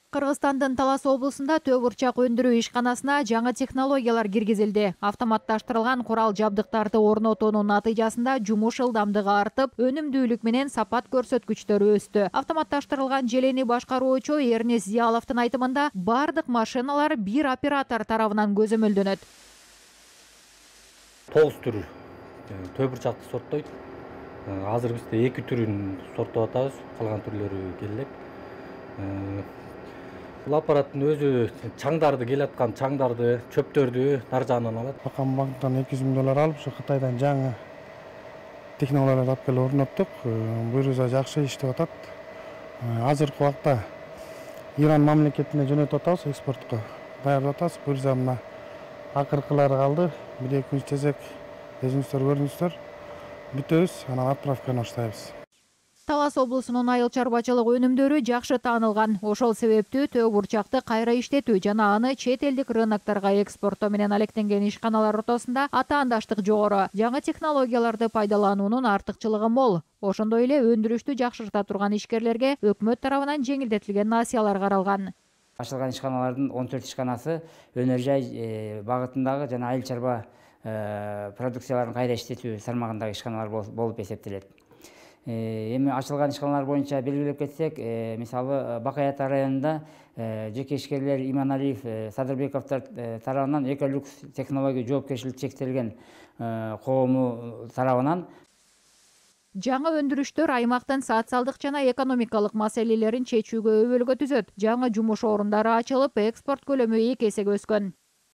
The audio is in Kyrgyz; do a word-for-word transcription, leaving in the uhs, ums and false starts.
Кыргызстандын Талас облусунда төө бурчак өндүрүү ишканасына жаңы технологиялар киргизилди. Автоматташтырылган курал жабдыктарды орнотуунун натыйжасында жумуш ылдамдыгы артып, өнүмдүүлүк менен сапат көрсөткүчтөрү өстү. Автоматташтырылган желени башкаруучу Эрнес Зияловдун айтымында, бардык машиналар бир оператор тарабынан көзөмөлдөнөт. Тогуз түр төө бурчакты сорттойт. Азыр бизде эки түрүн сорттоп атабыз, калган түрлөрү келе элек. Бул аппараттын өзү чаңдарды келаткан чаңдарды, чөптөрдү дар жагынан алат. Акам банктан эки жүз миң доллар алып, ушу Кытайдан жаңы технологияларды алып келип орноттук. Бул жерде жакшы иштеп атат. Азыркы убакта Иран мамлекетине жөнөтүп атабыз, экспортко даярдап атабыз. Бул жерде мына акыркылары калды. бир эки күн чечек өзүңүздөр көрдүңүздөр. Бүтөбүз, анан отправканы баштайбыз. Талас облусунун айыл чарбачылык өнүмдөрү жакшы таанылган. Ошол себептүү төө бурчакты кайра иштетүү жана аны чет элдик рынокторго экспорттоо менен алектенген ишканалар ортосунда атаандаштык жогору. Жаңы технологияларды пайдалануунун артыкчылыгы мол. Ошондой эле өндүрүштү жакшырта турган ишкерлерге өкмөт тарабынан жеңилдетилген насыялар каралган. Ачылган ишканалардын он төрт ишканасы өнөр жай багытындагы жана айыл чарба продукцияларын кайра иштетүү тармагындагы ишканалар болуп эсептелет. Эми ачылган ишканалар боюнча белгилеп кетсек, мисалы Бакай Ата районунда жеке ишкерлер Иманалиев, Садырбековдор тарабынан Эколюкс технология жоопкерчилиги чектелген коому тарабынан жаңы өндүрүштөр аймактын социалдык жана экономикалык маселелерин чечүүгө өбөлгө түзөт. Жаңы жумуш орундары ачылып, экспорт көлөмү эки эсеге өскөн.